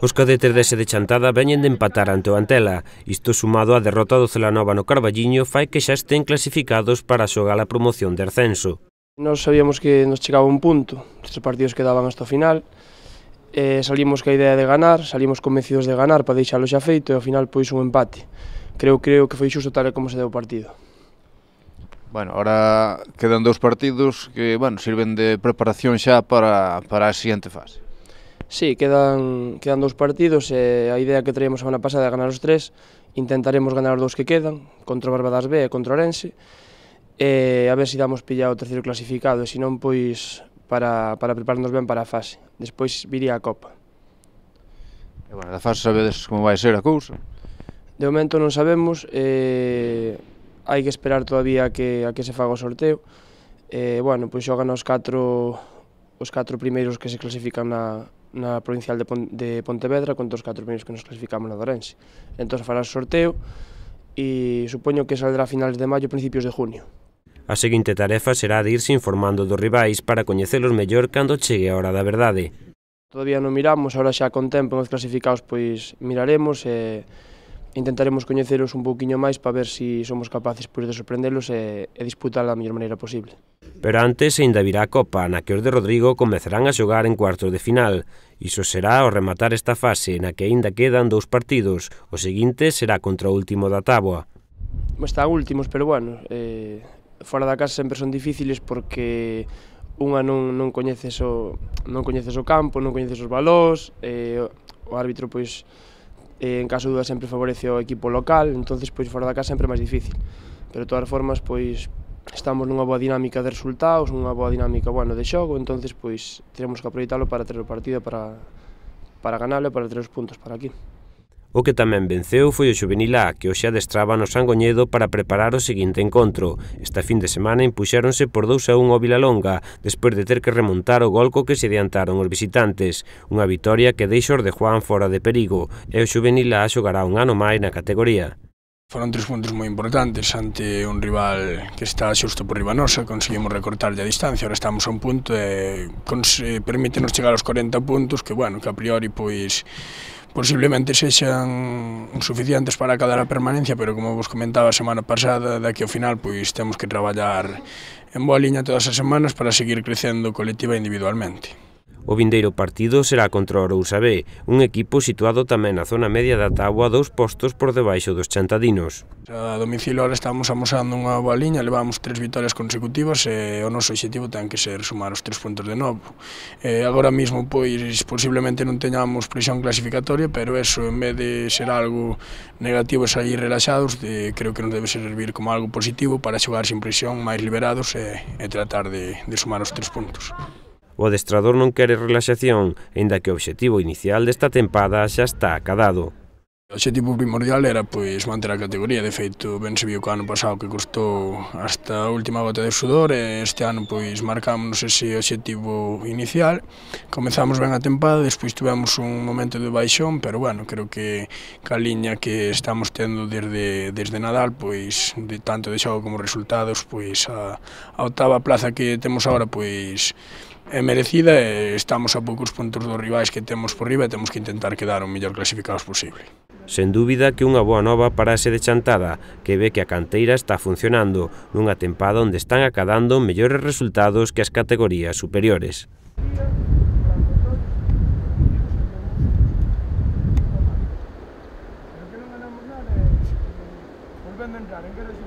Os cadetes dese de Chantada veñen de empatar ante o Antela. Isto sumado á derrota do Celanova no Carballiño fai que xa estén clasificados para xogar a promoción de ascenso. Nos sabíamos que nos chegaba un punto, estes partidos quedaban hasta o final, salimos ca idea de ganar, salimos convencidos de ganar para deixalo xa feito e ao final pois un empate. Creo que foi xusto tal como se deu o partido. Bueno, ahora quedan 2 partidos que, bueno, sirven de preparación xa para a siguiente fase. Sí, quedan 2 partidos e a idea que traíamos a semana pasada é ganar os 3, intentaremos ganar os 2 que quedan, contra o Barbadas B e contra o Orense, e a ver se damos pillado o terceiro clasificado, e se non, pois, para prepararnos ben para a fase. Despois viría a Copa. E, bueno, da fase sabedes como vai ser a cousa? De momento non sabemos, hai que esperar todavía a que se faga o sorteo. Bueno, pois xogan os 4 primeiros que se clasifican na provincial de Pontevedra contra os 4 primeiros que nos clasificamos na de Ourense. Entón fará o sorteo e supoño que saldrá a finales de maio, principios de junio. A seguinte tarefa será de irse informando dos rivais para coñecelos mellor cando chegue a hora da verdade. Todavía non miramos, ahora xa con tempo nos clasificados pois miraremos e intentaremos coñeceros un pouquiño máis para ver se somos capaces de sorprendelos e disputar da mellor maneira posible. Pero antes ainda virá a Copa, na que os de Rodrigo comezarán a xogar en cuartos de final. Iso será ao rematar esta fase, na que aínda quedan 2 partidos. O seguinte será contra o último da táboa. Están últimos, pero bueno, fora da casa sempre son difíciles porque unha non coñeces o campo, non coñeces os balós, o árbitro pois en caso de dúda sempre favorece o equipo local, entonces pois fora da casa sempre é máis difícil. Pero de todas formas pois estamos nunha boa dinámica de resultados, nunha boa dinámica, bueno, de xogo, entonces pois teremos que aproveitalo para ter o partido para ganalo e para ter os puntos para aquí. O que tamén venceu foi o Xuvenil A, que hoxe adestraba no Sangoñedo para preparar o seguinte encontro. Esta fin de semana impuxéronse por 2-1 ao Vilalonga, despois de ter que remontar o gol co que se adiantaron os visitantes. Unha vitoria que deixa os de Juan fora de perigo, e o Xuvenil A xogará un ano máis na categoría. Foron 3 puntos moi importantes ante un rival que está xusto por riba nosa, conseguimos recortar a distancia, ahora estamos a un punto e permítenos chegar aos 40 puntos, que, bueno, que a priori, pois, posiblemente sexan suficientes para acadar a permanencia, pero como vos comentaba a semana pasada, daqui ao final pois temos que traballar en boa liña todas as semanas para seguir crecendo colectiva e individualmente. O vindeiro partido será contra o Arousa B, un equipo situado tamén na zona media da táboa 2 postos por debaixo dos chantadinos. A domicilio ahora estamos amosando unha boa liña, levamos 3 vitorias consecutivas e o noso obxectivo ten que ser sumar os 3 puntos de novo. Agora mesmo pois posiblemente non teñamos presión clasificatoria, pero eso en vez de ser algo negativo e sair relaxados, creo que nos debe servir como algo positivo para xogar sin presión, máis liberados e tratar de sumar os 3 puntos. O adestrador non quere relaxación, aínda que o obxectivo inicial desta tempada xa está acadado. O obxectivo primordial era pois manter a categoría, de feito ben se viu que o ano pasado que costou hasta a última gota de sudor e este ano pois marcámonos ese obxectivo inicial. Comezamos ben a tempada, despois tivemos un momento de baixón, pero bueno, creo que a liña que estamos tendo desde Nadal, pois tanto de xogo como resultados, pois a 8ª plaza que temos agora pois é merecida e estamos a poucos puntos dos rivais que temos por riba e temos que intentar quedar o mellor clasificados posible. Sen dúbida que unha boa nova para ese de Chantada, que ve que a canteira está funcionando nunha tempada onde están acadando mellores resultados que as categorías superiores. Volvendo a entrar en guerra de